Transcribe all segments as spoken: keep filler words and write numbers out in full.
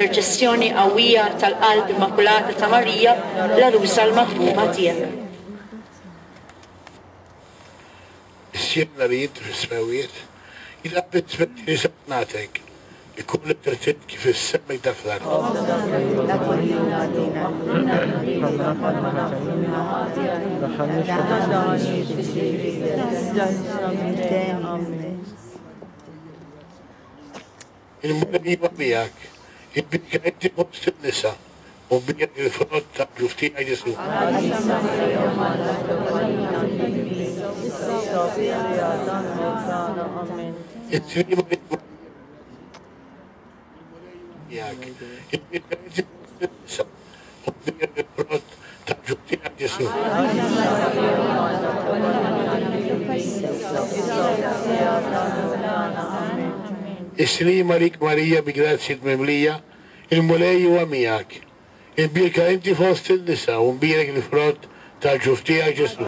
Interċessjoni qawwija tal-Qalb Immakulata ta' Marija, l-għarusa l-maħbuba tiegħek. Missierna li inti fis-smewwiet, jitqabbel saltnatek, ikun li trid kif is-sema dak l-art. Il-Mulej huwa miegħek, imbierka inti fost in-nisa, u mbierek il-frott tal-ġuf tiegħek Ġesù. Miegħek, imbierka inti fost in-nisa, u mbierek il-frott tal-ġuf tiegħek Ġesù. Is-sliem għalik Marija bi grazzja mimlija, il-Mulej huwa miegħek. Imbierka inti fost in-nisa u mbierek il-frott tal-ġuf tiegħek Ġesù.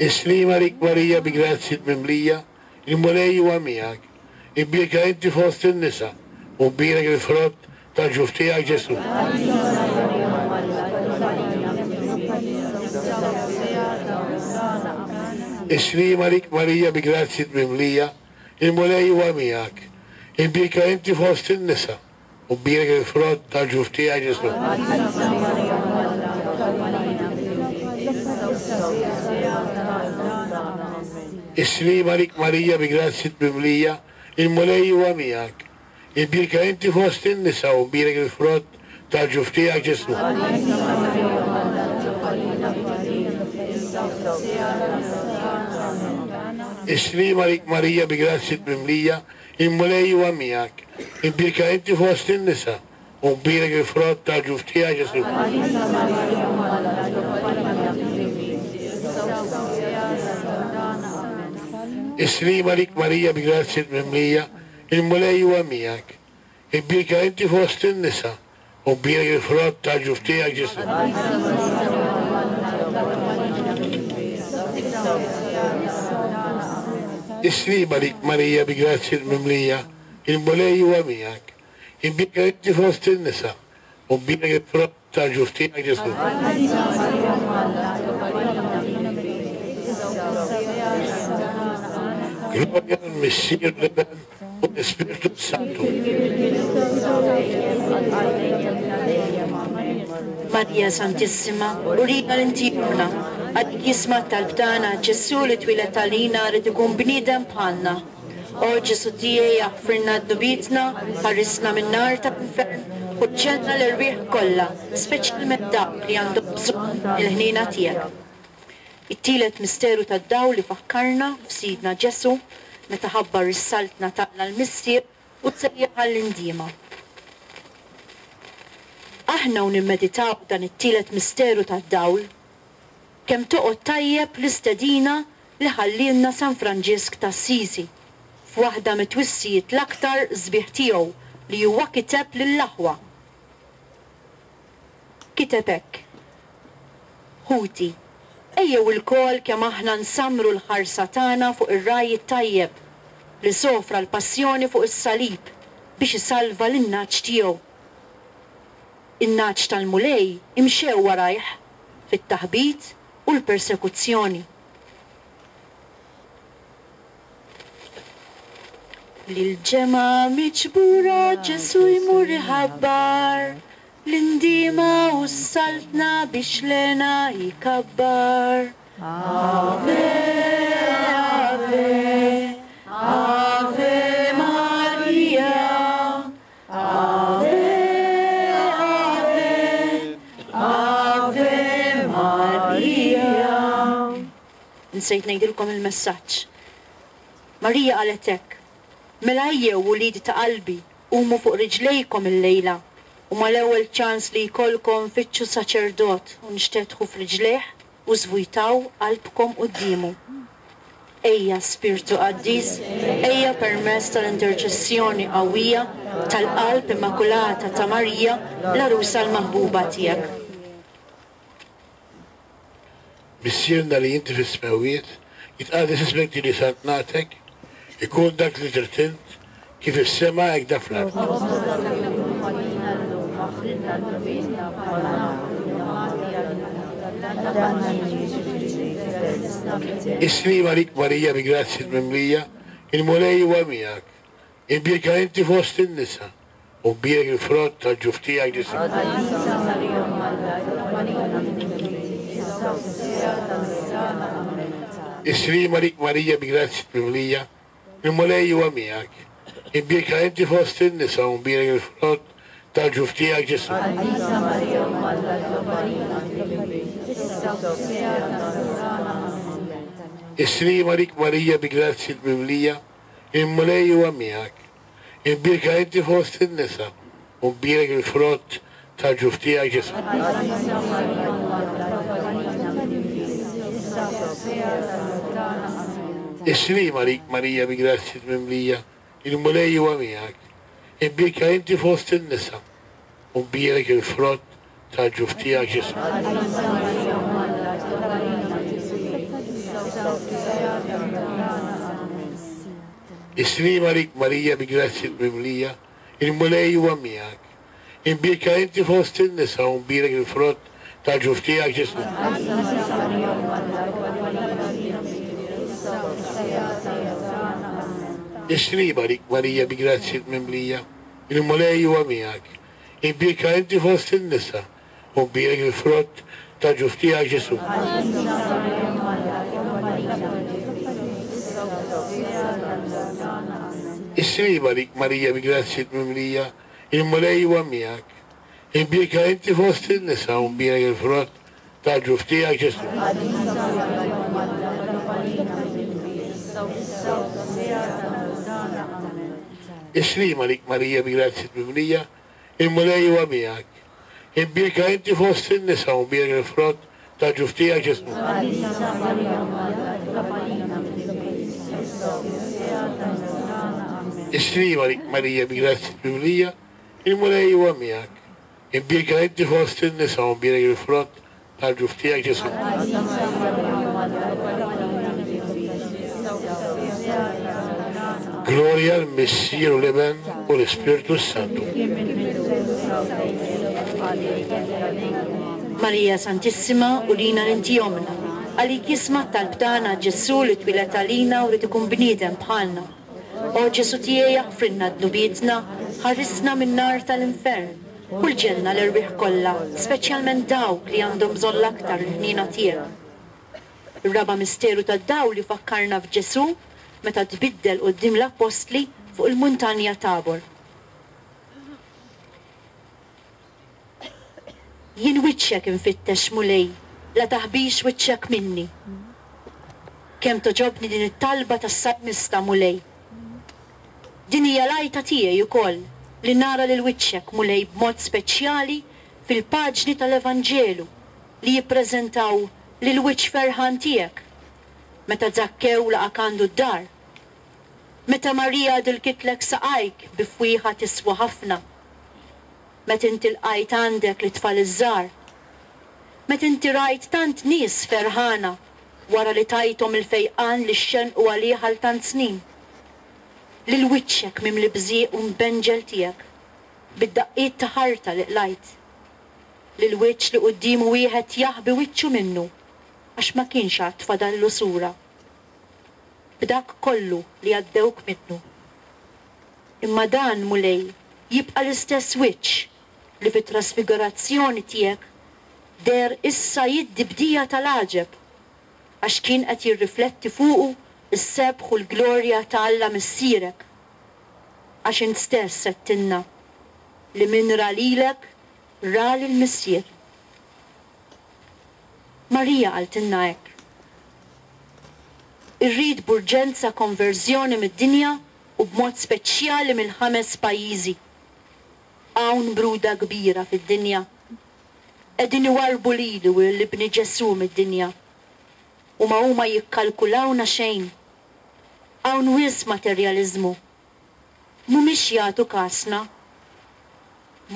Is-sliem għalik Marija bi grazzja mimlija, il-Mulej huwa miegħek. Imbierka inti fost in-nisa u mbierek il-frott tal-ġuf tiegħek Ġesù. Is-sliem għalik Marija bi grazzja mimlija, il-Mulej huwa miegħek. Imbierka inti fost in-nisa u mbierek il-frott tal-ġuf tiegħek Ġesù. Is-sliem għalik Marija bi grazzja mimlija, il-Mulej huwa miegħek. Imbierka inti fost in-nisa u mbierek il-frott tal-ġuf tiegħek Ġesù. Is-sliem għalik Marija bi grazzja mimlija, il-Mulej huwa miegħek. Imbierka inti fost in-nisa u mbierek il-frott tal-ġuf tiegħek Ġesù. Is-sliem għalik Marija bi grazzja mimlija, il-Mulej huwa miegħek. Imbierka inti fost in-nisa u mbierek il-frott tal-ġuf tiegħek Ġesù. Is-sliem għalik Marija bi grazzja mimlija, il-Mulej huwa miegħek. Imbierka inti fost in-nisa u mbierek il-frott tal-ġuf tiegħek Ġesù. Glorja lill-Missier, l-Iben u l-Ispirtu Santu. Marija Santissima, urina l-intimna, għalik jisma' t-talb tagħna, Ġesù li twieled għalina rid ikun bniedem bħalna. O Ġesù tiegħi, aħfirna dnubietna, ħarisna min-nar tal-infern u ġġenna l-erwieħ kollha, speċjalment dawk li għandhom bżonn il-ħniena tiegħek. It-tielet misteru tad-dawl li fakkarna f'Sidna Ġesù meta ħabbar is-saltna tagħna l-Missier u sejjaħ għall-indiema. Aħna u nimmeditaw dan it-tielet misteru tad-dawl, kemm toqgħod tajjeb l-istedina li ħallielna San Franġisk t'Assisi f'waħda mit-twissijiet l-aktar sbieħ tiegħu li huwa kiteb lill-aħwa. Kiteb hekk: Ħuti, ejjew ilkoll kemm aħna nsammru l-ħarsa tagħna fuq ir-raj it-tajjeb li sofra l-passjoni fuq is-salib biex isalva lin-nagħaġ tiegħu. In-nagħaġ tal-Mulej imxew warajh fit-taħbit u l-persekuzzjoni. Lil-ġemgħa miġbura Ġesù jmur iħabbar l-indiema u s-saltna biex lena jkabbar. Ave, Ave, Ave Maria, Ave, Ave, Ave Maria. Nsejt ngħidilkom il-messaġġ. Marija qalet hekk: Mela ejjew uliedi ta' qalbi, qumu fuq riġlejkom illejla, u mal-ewwel ċans li jkollkom fittxu saċerdot u nxtetħu f'riġlejh u żvujtaw qalbkom quddiemu. Ejja Spirtu Qaddis, ejja permezz tal-interċessjoni qawwija tal-Qalb Immakulata ta' Marija, l-għarusa l-maħbuba tiegħek. Missierna li inti fis-smewwiet, Jitqaddes ismek tiġi saltnatek, ikun dak li trid int, kif is-sema hekk dak fl-art. Is-sliem għalik Marija bi grazzja mimlija, il-Mulej huwa miegħek. Imbierka inti fost in-nisa, u mbierek il-frott tal-ġuf tiegħek Ġesù. Is-sliem għalik Marija bi grazzja mimlija, il-Mulej huwa miegħek. Imbierka inti fost in-nisa, u mbierek il-frott tal-ġuf tiegħek Ġesù. Is-sliem għalik Marija bi grazzja mimlija, il-Mulej huwa miegħek. Imbierka inti fost in-nisa, u mbierek il-frott tal-ġuf tiegħek Ġesù. Is-sliem għalik Marija bi grazzja mimlija, il-Mulej huwa miegħek. Imbierka inti fost in-nisa, u mbierek il-frott tal-ġuf tiegħek Ġesù. Is-sliem għalik Marija bi grazzja mimlija, il-Mulej huwa miegħek. Imbierka inti fost in-nisa, u mbierek il-frott tal-ġuf tiegħek Ġesù. Is-sliem għalik Marija bi grazzja mimlija, il-Mulej huwa miegħek. Imbierka inti fost in-nisa, u mbierek il-frott tal-ġuf tiegħek Ġesù. Is-sliem għalik Marija bi grazzja mimlija, il-Mulej huwa miegħek. Imbierka inti fost in-nisa, u mbierek il-frott tal-ġuf tiegħek Ġesù. Is-sliem għalik Marija bi grazzja mimlija, il-Mulej huwa miegħek. Imbierka inti fost in-nisa, u mbierek il-frott tal-ġuf tiegħek Ġesù. Is-sliem għalik Marija bi grazzja mimlija, il-Mulej huwa miegħek. Imbierka inti fost in-nisa, u mbierek il-frott tal-ġuf tiegħek Ġesù. Gloria al-Missier u l-Iben u l-Ispirtu Santu. Marija Santissima, urina l-inti omna, għalik jisma' t-talb tagħna Ġesù li twieled għalina u rid ikun bniedem bħalna. O Ġesù tiegħi aħfrilna dnubietna, ħarisna min-nar tal-infern, u l-ġenna l-erwieħ kollha, speċjalment dawk li għandhom bżonn l-aktar il-ħniena tiegħek. Ir-raba' misteru tad-dawl jfakkarna f'Ġesù meta tbiddel quddiem l-appostli fuq il-muntanja Tabor. Jien wiċċek infittex Mulej, la taħbix wiċċek minni. Kemm toġobni din it-talba tas-salmista Mulej. Din hija l-għajta tiegħi wkoll li nara lil wiċċek Mulej b'mod speċjali fil-paġni tal-Evanġelu li jippreżentaw lil wiċċ ferħan tiegħek. Meta Zakkew laqak għandu d-dar, meta Marija dilkitlek saqajk bi fwieħa tiswa ħafna, meta inti lqajt għandek l-itfal iż-żgħar, meta inti rajt tant nies ferħana wara li tajthom il-fejqan li xxenqu għalih għal tant snin, lil wiċċek mimli bżieq u mbenġel tiegħek bid-daqqiet ta' ħarta li qlajt, lil wiċċ li quddiemu wieħed jaħbi wiċċu minnu għax ma kienx għad fadallu sura, b'dak kollu li għaddewk minnu. Imma dan Mulej jibqa' l-istess wiċċ li fit-trasfigurazzjoni tiegħek deher issa jiddi bdija tal-għaġeb, għax kien qed jirrifletti fuqu s-sebħ u l-glorja ta' Alla Missierek, għax int stess għedtilna li min ra lilek ra lil Missier. Marija qaltilna hekk. Irrid b'urġenza konverżjoni mid-dinja u b'mod speċjali mill-ħames pajjiżi. Hawn bruda kbira fid-dinja. Qegħdin iwarrbu lili u lil ibni Ġesù mid-dinja. U ma huma jikkalkulawna xejn. Hawn wisq materjaliżmu. Mhumiex jagħtu kasna.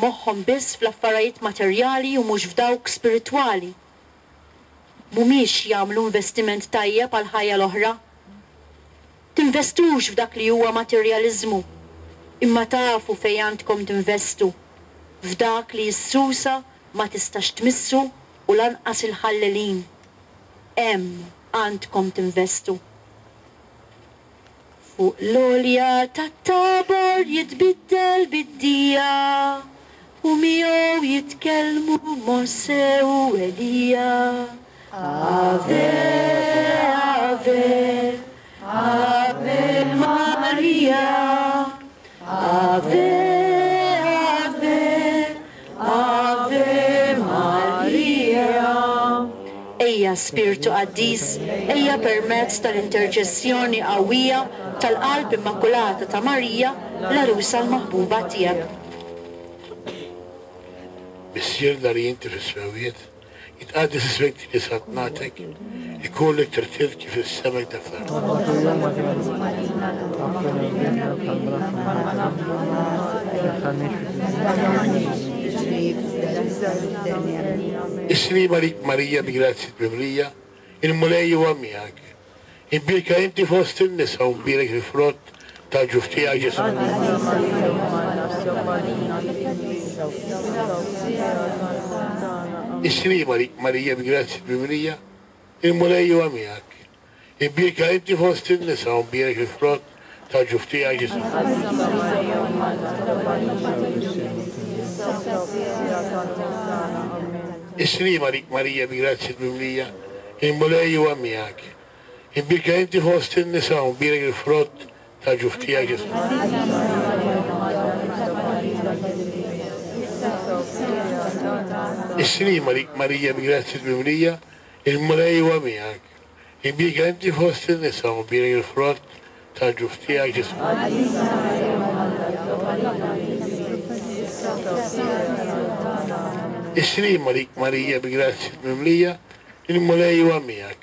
Moħħhom biss fl-affarijiet materjali u mhux f'dawk spiritwali. mhumiex jagħmlu investiment tajjeb għal ħajja l-oħra. Tinvestux f'dak li huwa materjaliżmu, imma tafu fejn għandkom tinvestu, f'dak li s-susa ma tistax tmissu u lanqas il-ħallelin. Hemm għandkom tinvestu. Fuq l-għolja tat-Tabor jitbiddel bid-dija, u miegħu jitkellmu Mosè u Elija. Ave, Ave, Ave Maria, Ave, Ave, Ave Maria. Ejja Spirtu Qaddis, ejja permezz tal-interċessjoni qawwija tal-Qalb Immakulata ta' Marija, l-għarusa l-maħbuba tiegħek. Missierna li inti fis-smewwiet, jitqaddes ismek tiġi saltnatek, ikollok tirtiet kif is-sema dak fl-art. Is-slima lik Marija bi grazzja mimlija, il-Mulej huwa miegħek. Imbierka inti fost in-nisa u mbierek il-frott tal-ġuf tiegħek Ġesù. Is-slima lik Marija bi grazzja mimlija, il-Mulej huwa miegħek. Imbierka inti fost in-nisa u mbierek il-frott tal-ġuf tiegħek Ġesù. Is-slima lik Marija bi grazzja mimlija, il-Mulej huwa miegħek. Imbierka inti fost in-nisa u mbierek il-frott tal-ġuf tiegħek Ġesù. Is-slima lik Marija bi grazzja mimlija, il-Mulej huwa miegħek. Imbierka inti fost in-nisa u mbierek il-frott tal-ġuf tiegħek Ġesù. Is-slima lik Marija bi grazzja mimlija, il-Mulej huwa miegħek.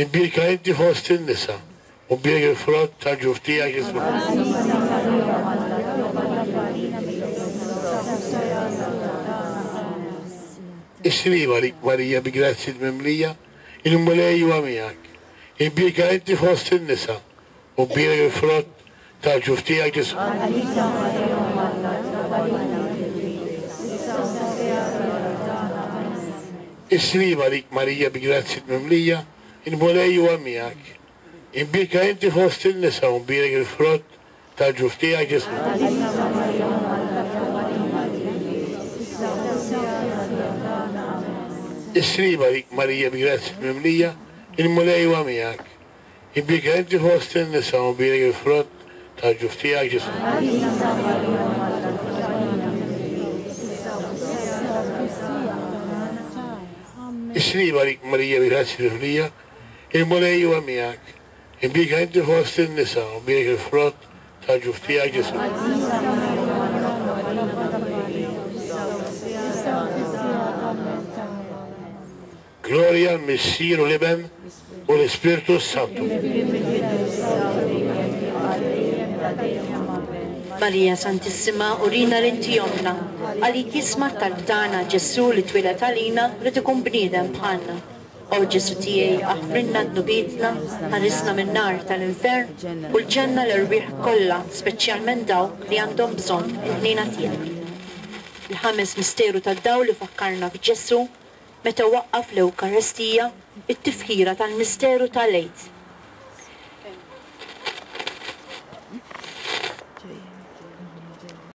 Imbierka inti fost in-nisa u mbierek il-frott tal-ġuf tiegħek Ġesù. Is-slima lik Marija bi grazzja mimlija, il-Mulej huwa miegħek. Imbierka inti fost in-nisa u mbierek il-frott tal-ġuf tiegħek Ġesù. Is-slima lik Marija bi grazzja mimlija, il-Mulej huwa miegħek. Imbierka inti fost in-nisa u mbierek il-frott tal-ġuf tiegħek Ġesù. Is-slima lik Marija bi grazzja mimlija, il-Mulej huwa miegħek. Imbierka inti fost in-nisa u mbierek il-frott tal-ġuf tiegħek Ġesù. Is-slima lik Marija bi grazzja mimlija, il-Mulej huwa miegħek. Imbierka inti fost in-nisa u mbierek il-frott tal-ġuf tiegħek Ġesù. Gloria al-Missier u l-Iben u l-Ispirtu Santu. Marija Santissima, urina l-inti omna, għalik jisma' t-talb tagħna Ġesù li twieled għalina rid ikun bniedem bħalna. O Ġesù tiegħi, aħfrilna dnubietna, ħarisna min-nar tal-infern u l-ġenna l-erwieħ kollha, speċjalment dawk li għandhom bżonn il-ħniena tiegħek. Il-ħames misteru tad-dawl li fakkarna f'Ġesù meta waqqaf l-Ewkaristija, it-tifħira tal-misteru tal-Għid.